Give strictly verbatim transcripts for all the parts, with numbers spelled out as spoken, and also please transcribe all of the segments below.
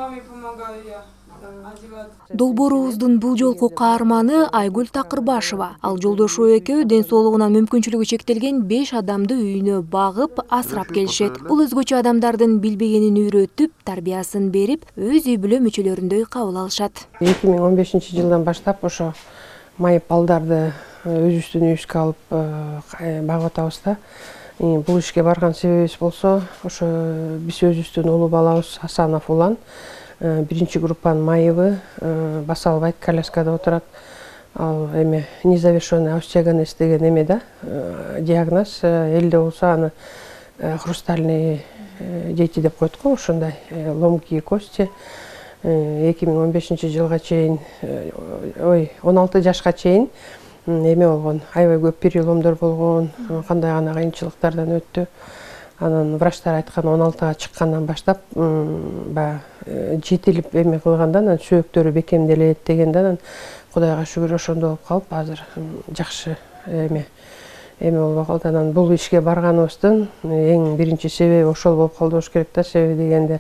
маме помогаю я. Долбоорубуздун бул жолку каарманы Айгүл Такырбашева. Ал жолдошу экөө ден соолугунан мүмкүнчүлүгү чектелген беш адамды үйүнө багып, асырап келишет. Бул өзгөчө адамдардын билбегенин үйрөтүп, тарбиясын берип, өз үй бүлө мүчөлөрүндөй кабыл алышат. эки миң он бешинчи жылдан баштап ошо майып балдарды өзүбүздүн үйүбүзгө алып багып атабыз да. Бул ишке барган себебибиз болсо, ошо биз өзүбүздүн улуу балабыз Асанов Улан биринчи группанын майыбы, баса албайт, коляскада отурат. Ал эме незавершенный остеогенез деген эме да, диагноз. Элде болсо аны хрустальный дети деп коет го, ошондой ломкие кости. эки миң он бешинчи жылга чейин, ой, он алты жашка чейин эме болгон, аябай көп переломдор болгон, кандай гана кыйынчылыктардан өттү. Анан врачтар айткан он алтыга чыккандан баштап баягы жетилип эме кылганда, анан сөөктөрү бекемделет дегенде, анан Кудайга шүгүр ошондо болуп калып, азыр жакшы эме эме болуп калды. Анан бул ишке барганыбыздын эң биринчи себеби ошол болуп калды болуш керек да. Себеби дегенде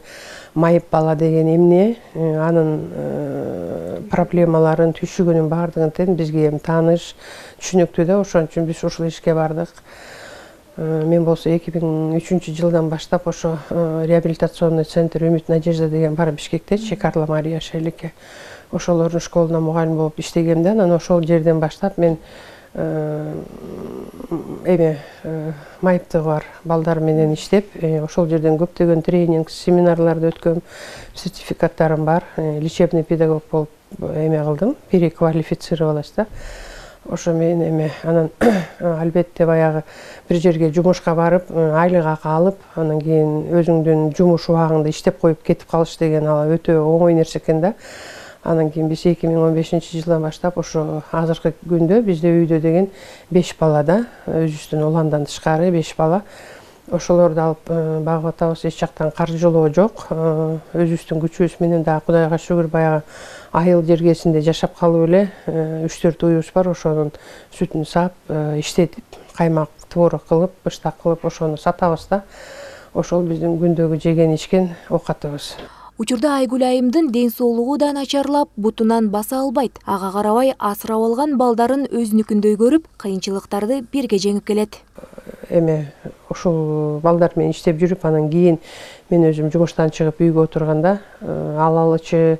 майып бала деген эмне, анын проблемаларын, түйшүгүнүн баардыгын тең бизге эми тааныш, түшүнүктүү да. Ошон үчүн биз ушул ишке бардык. Мен болсо эки миң үчүнчү жылдан баштап ошо реабилитационный центр Үмүт Надежда деген бар Бишкекте, Карла Мария Шелике. Ошолордун школуна мугалим болуп иштегем да. Анан ошол жерден баштап мен эме майыптыгы бар балдар менен иштеп, ошол жерден көптөгөн тренинг, семинарларды өткөм, сертификаттарым бар. Лечебный педагог болуп эме кылдым, переквалифицировалась да. Ошо менен эме анан албетте баягы бир жерге жумушка барып, айлык акы алып, анан кийин өзүңдүн жумуш убагыңды иштеп коюп кетип калыш деген ал өтө оңой нерсе экен да. Анан кийин биз эки миң он бешинчи жылдан баштап ошо азыркы күндө бизде үйдө деген беш бала да, өзүбүздүн Уландан тышкары беш бала. Ошолорду алып багып атабыз, эч жактан каржылоо жок. Өзүбүздүн күчүбүз менен да Кудайга шүгүр баягы айыл жергесинде жашап калып эле үч төрт уюбуз бар, ошонун сүтүн саап, иштетип, каймак, творог кылып, быштак кылып ошону сатабыз да. Ошол биздин күндөгү жеген ичкен оокатыбыз. Учурда Айгүл айымдын ден соолугу да начарлап, бутунан баса албайт. Ага карабай асырап алган балдарын өзүнүкүндөй көрүп, кыйынчылыктарды бирге жеңип келет. Эме ушул балдар менен иштеп жүрүп, анан кийин мен өзүм жумуштан чыгып үйгө отурганда, алалычы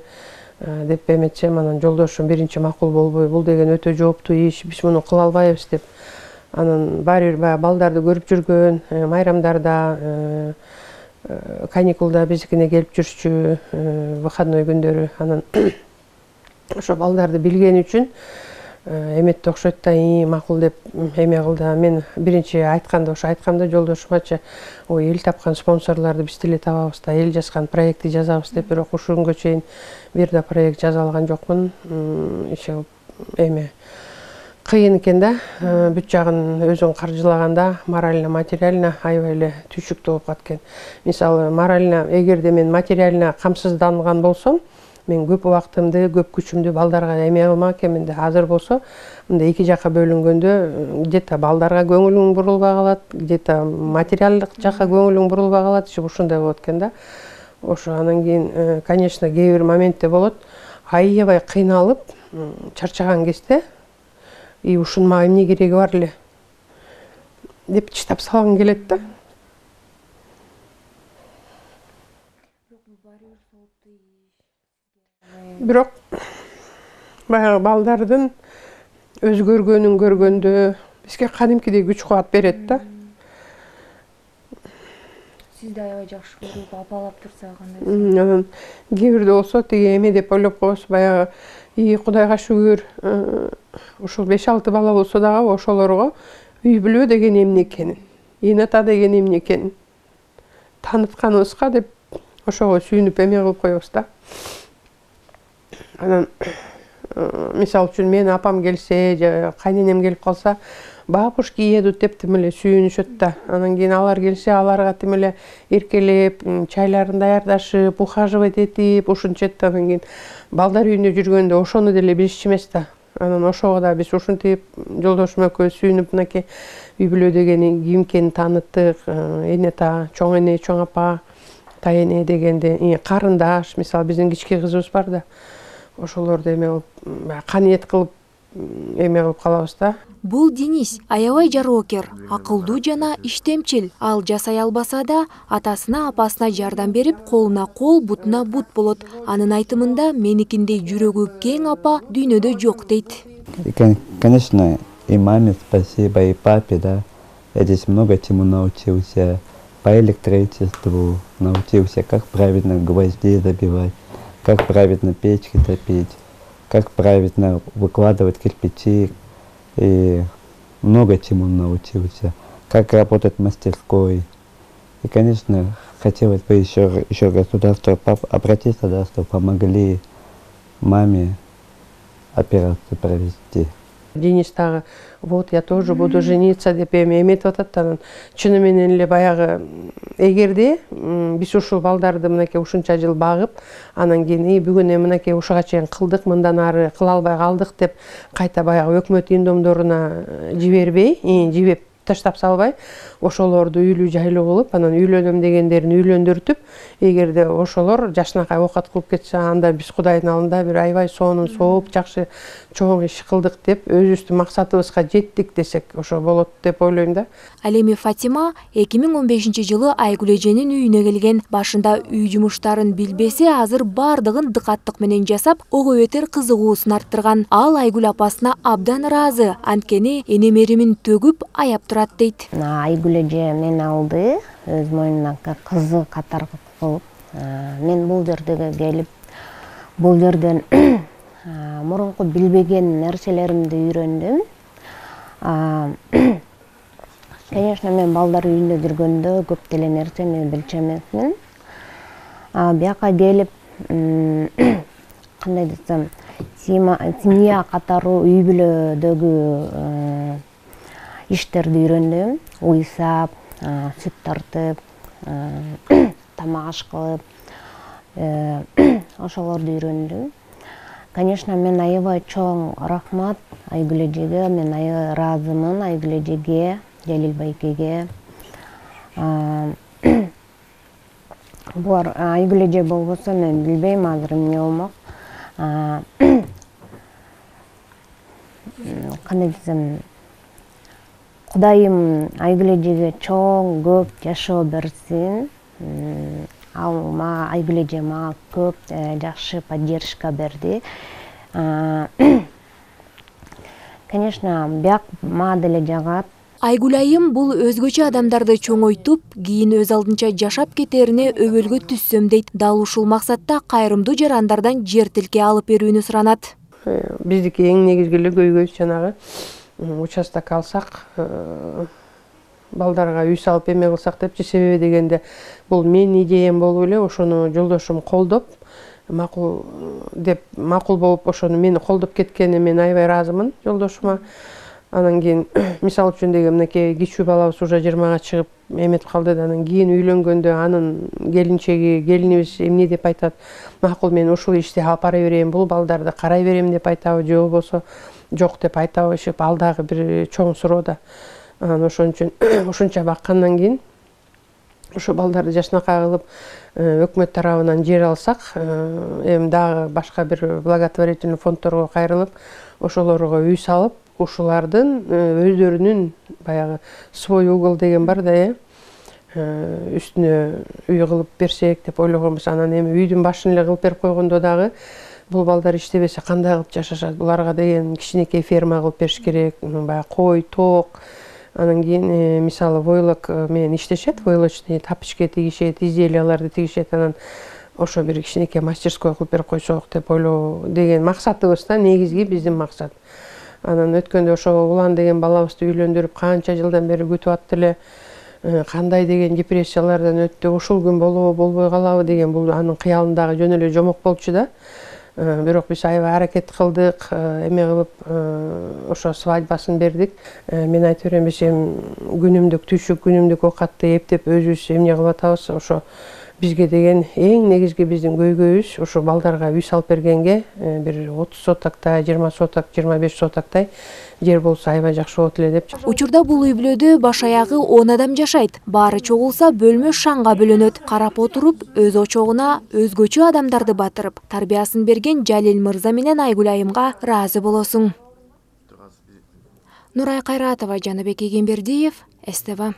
деп эметсем, анан жолдошум биринчи макул болбой, бул деген өтө жооптуу иш, биз муну кыла албайбыз деп. Анан баары бир баягы балдарды көрүп жүргөн, майрамдарда, каникулда биздикине келип жүрчү, выходной күндөрү. Анан ошо балдарды билген үчүн эметти окшойт да, макул деп эме кылды. Мен биринчи айтканда ошо айткам да жолдошумачы, ой, эл тапкан спонсорлорду биз деле табабыз да, эл жазган проектти жазабыз деп, бирок ушул күнгө чейин бир да проект жаза алган жокмун. Иши эме кыйын экен да, бүт жагын өзүң каржылаганда морально, материально аябай эле түйшүктүү болуп калат экен. Мисалы, морально, эгерде мен материально камсызданган болсом, мен көп убактымды, көп күчүмдү балдарга эме кылмак экенмин да. Азыр болсо, мындай эки жакка бөлүнгөндө, где-то балдарга көңүлүң бурулбай калат, где-то материалдык жакка көңүлүң бурулбай калат, ушундай болот экен да. Ошо анан кийин, конечно, кээ бир моментте болот, аябай кыйналып, чарчаган кезде, и ушунун мага эмне кереги бар эле деп чыдап салгың келет да. Бирок баягы балдардын өзгөргөнүн көргөндө бизге кадимкидей күч кубат берет да. Сизди аябай жакшы көрүп, апалап турса кандай? Анан кээ бирде болсо тиги эме деп ойлоп коебуз, баягы и Кудайга шүгүр, ушул беш алты бала болсо дагы ошолорго үй бүлө деген эмне экенин, эне ата деген эмне экенин таанытканыбызга деп ошого сүйүнүп эме кылып коебуз да. Анан мисалы үчүн мен апам келсе, же кайненем келип калса, бабушки едут деп тим эле сүйүнүшөт да. Анан кийин алар келсе, аларга тим эле эркелеп, чайларын даярдашып, ухаживать этип, ушинчет. Анан кийин балдар үйүндө жүргөндө ошону деле билишчү эмес да. Анан ошого да биз ушинтип жолдошум экөөбүз сүйүнүп, мынакей үй бүлө деген ким экенин тааныттык, эне ата, чоң эне, чоң апа тайене дегенде карындаш, мисалы биздин кички кызыбыз бар да, ошолорду эме кылып каниет кылып эме кылып калабыз да. Бул Денис аябай жароокер, акылдуу жана иштемчил. Ал жасай албаса да атасына, апасына жардам берип, колуна кол, бутуна бут болот. Анын айтымында меникиндей жүрөгү кең апа дүйнөдө жок дейт. Конечно, и маме спасибо, и папе, да. Я здесь много чему научился. По электричеству научился, как правильно гвозди забивать, как правильно печки топить, как правильно выкладывать кирпичи. И много чему научился, как работать в мастерской. И, конечно, хотелось бы еще, еще государство обратиться, да, чтобы помогли маме операцию провести. Денис тагы, вот я тоже буду жениться деп эми эметип атат. Анан чыны менен эле баягы эгерде биз ушул балдарды мынакей ушунча жыл багып, анан кийин бүгүн мынакей ушуга чейин кылдык, мындан ары кыла албай калдык деп кайта баягы өкмөт үй-домдоруна жибербей, жибеп таштап салбай, ошолорду үйлүү жайлуу кылып, анан үйлөнөм дегендерин үйлөндүртүп, эгерде ошолор жашынакай оокат кылып кетсе, анда биз Кудайдын алдында бир аябай сонун сооп, жакшы чоң иш кылдык деп, өзүбүздүн максатыбызга жеттик десек, ошо болот деп ойлойм да. Ал эми Фатима эки миң он бешинчи жылы Айгүл эженин үйүнө келген. Башында үй жумуштарын билбесе, азыр бардыгын дыкаттык менен жасап, ого бетер кызыгуусун арттырган. Ал Айгүл апасына абдан ыраазы, анткени энемеримин төгүп аяп турат дейт. Айгүл эже мени алды, өз мойнуна кызы катары кылып. Мен бул жерге келип, бул жерден мурунку билбеген нерселеримди үйрөндүм. Конечно, мен балдар үйүнө киргөндө көп деле нерсени билчү эмесмин. Бияка келип, кандай десем, семья катары үй бүлөдөгү иштерди үйрөндүм. Уйсап, сүт тартып, тамак аш кылып, ошолорду үйрөндүм. Конечно, мен аябай чоң рахмат Айгүл эжеге, мен аябай ыраазымын Айгүл эжеге, Жалил байкеге. Булар Айгүл эже болбосо мен билбейм азыр эмне болмок. Кандай десем, Кудайым Айгүл эжеге чоң көп жашоо берсин. Ал мага Айгүл эже мага көп жакшы поддержка берди. Конечно, бияк мага деле жагат. Айгүл айым бул өзгөчө адамдарды чоңойтуп, кийин өз алдынча жашап кетерине өбөлгө түссөм дейт. Дал ушул максатта кайрымдуу жарандардан жер тилке алып берүүнү суранат. Биздики эң негизги эле көйгөйүбүз жанагы участок алсак, балдарга үй салып эме кылсак депчи. Себеби дегенде бул менин идеям болуп эле, ошону жолдошум колдоп, макул деп макул болуп, ошону мени колдоп кеткенине мен аябай ыраазымын жолдошума. Анан кийин мисал үчүн деген мынакей кичүү балабыз уже жыйырмага чыгып эметип калды да, анан кийин үйлөнгөндө анын келинчеги, келинибиз эмне деп айтат? Макул, мен ушул ишти алып бара берейин, бул балдарды карай берем деп айтабы, же болбосо жок деп айтабы, ишип ал дагы бир чоң суроо да. Анан ошон үчүн ушунча баккандан кийин ошо балдарды жашынакай кылып өкмөт тарабынан жер алсак, эми дагы башка бир благотворительный фонддорго кайрылып, ошолорго үй салып, ушулардын өздөрүнүн баягы свой угол деген бар да, үстүнө үй кылып берсек деп ойлогонбуз. Анан эми үйдүн башын эле кылып берип койгондо дагы бул балдар иштебесе кандай кылып жашашат? Буларга деген кичинекей ферма кылып бериш керек, баягы кой, тоок. Анан кийин мисалы войлок менен иштешет, войлочный тапочки тигишет, изделияларды тигишет. Анан ошо бир кичинекей мастерской кылып берип койсок деп ойлоо деген максатыбыз да, негизги биздин максат. Анан өткөндө ошо Улан деген балабызды үйлөндүрүп канча жылдан бери күтүп аттыр эле. Кандай деген депрессиялардан өттү, ушул күн болобу, болбой калабы деген бул анын кыялындагы жөн эле жомок болчу да. Бирок биз аябай аракет кылдык, эме кылып ошо свадьбасын бердик. Мен айтып берем, биз эми күнүмдүк түшүк, күнүмдүк оокатты эптеп өзүбүз эмне кылып атабыз, ошо бизге деген эң негизги биздин көйгөйүбүз ушу балдарга үй салып бергенге бир отуз сотоктай, жыйырма соток, жыйырма беш сотоктай жер болсо аябай жакшы болот эле деп. Учурда бул үй бүлөдө баш аягы он адам жашайт. Баары чогулса бөлмө шаңга бөлөнөт. Карап отуруп, өз очогуна өзгөчө адамдарды батырып, тарбиясын берген Жалил мырза менен Айгүл айымга ыраазы болосуң. Нурай Кайратова, Жаныбек Эгембердиев, эс тэ вэ.